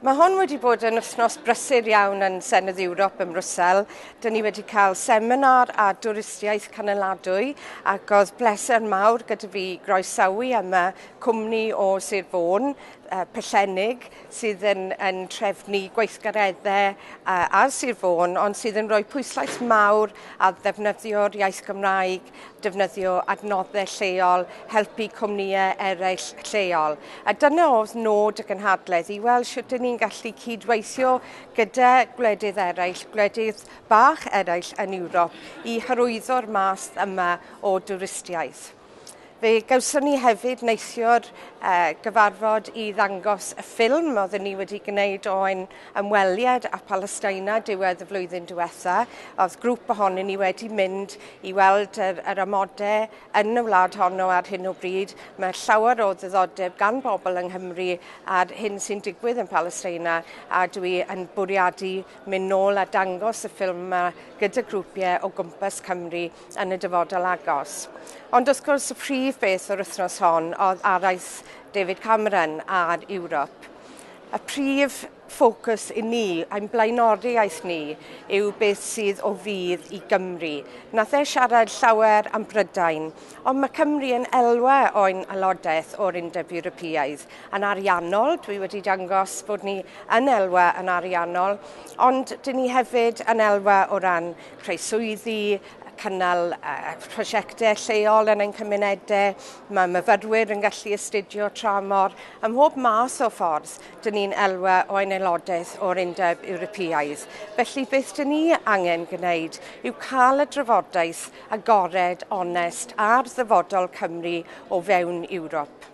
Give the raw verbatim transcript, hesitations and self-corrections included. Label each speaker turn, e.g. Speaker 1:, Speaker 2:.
Speaker 1: Mae hon wedi bod yn wythnos brysur iawn yn Senedd Ewrop ym Mrwsel. Dyn ni wedi cael seminar a dwristiaeth canoladwy ac oedd bleser mawr gyda fi groesawu yma cwmni o Sir Fôn, uh, Pellennig, sydd yn, yn trefnu gweithgareddau uh, ar Sir Fôn, ond sydd yn rhoi pwyslais mawr ar ddefnyddio'r iaith Gymraeg, defnyddio adnoddau lleol, helpu cwmnïau eraill lleol. A dyna oedd nod y gynhadledd, i weld sut dyn ni'n gallu cydweithio gyda gwledydd eraill, gwledydd bach eraill yn Ewrop, i hyrwyddo'r math yma o dwristiaeth. Fe gawson ni hefyd neithiwr uh, gyfarfod i ddangos y ffilm oedden ni wedi gwneud o'n ymweliad â Palestina diwedd y flwyddyn diwetha. Oedd grŵp ohonyn ni wedi mynd i weld yr, yr amodau yn y wlad honno ar hyn o bryd. Mae llawer o ddiddordeb gan bobl yng Nghymru ar hyn sy'n digwydd yn Palestina, a dwi yn bwriadu mynd nôl a dangos y ffilm yma gyda grwpiau o gwmpas Cymru yn y dyfodol agos. Ond wrth gwrs y prif beth o'r wythnos hon oedd araith David Cameron ar Ewrop. Y prif ffocws i ni, ein blaenoriaeth ni, yw beth sydd o fudd i Gymru. Nath e siarad llawer am Brydain, ond mae Cymru yn elwa o'n aelodaeth o'r Undeb Ewropeaidd. Yn ariannol, dwi wedi dangos bod ni yn elwa yn ariannol, ond dyn ni hefyd yn elwa o ran creu swyddi, cynnal uh, prosiectau lleol yn ein cymunedau, mae myfyrwyr yn gallu astudio tramor. Ym mhob math o ffordd, dyn ni'n elwa o ein aelodaeth o'r Undeb Ewropeaidd. Felly beth dyn ni angen gwneud yw cael y drafodaeth agored, onest ar ddyfodol Cymru o fewn Ewrop.